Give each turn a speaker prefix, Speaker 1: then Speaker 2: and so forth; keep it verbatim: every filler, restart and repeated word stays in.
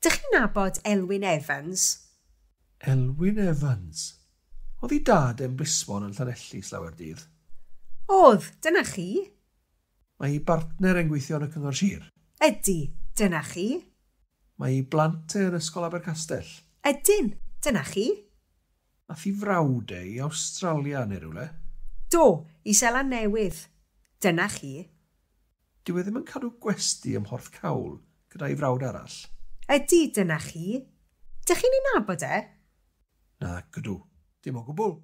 Speaker 1: Dych chi'n nabod Elwyn Evans?
Speaker 2: Elwyn Evans. Oedd ei dad yn blismon yn Llanelli slawer dydd.
Speaker 1: Oedd, dyna chi.
Speaker 2: Mae ei bartner yn gweithio yn y Cyngor Sir.
Speaker 1: Ydy, dyna chi.
Speaker 2: Mae ei blant e yn Ysgol Abercastell.
Speaker 1: Ydyn, dyna chi.
Speaker 2: Ath ei frawd e i Awstralia neu rywle.
Speaker 1: Do, i Seland Newydd. Dyna chi.
Speaker 2: Dyw e ddim yn cadw gwesty ym Mhorthcawl gyda'i frawd arall.
Speaker 1: Ydy, dyna chi. Dych chi'n ei nabod e?
Speaker 2: Nac ydw, dim o gwbl.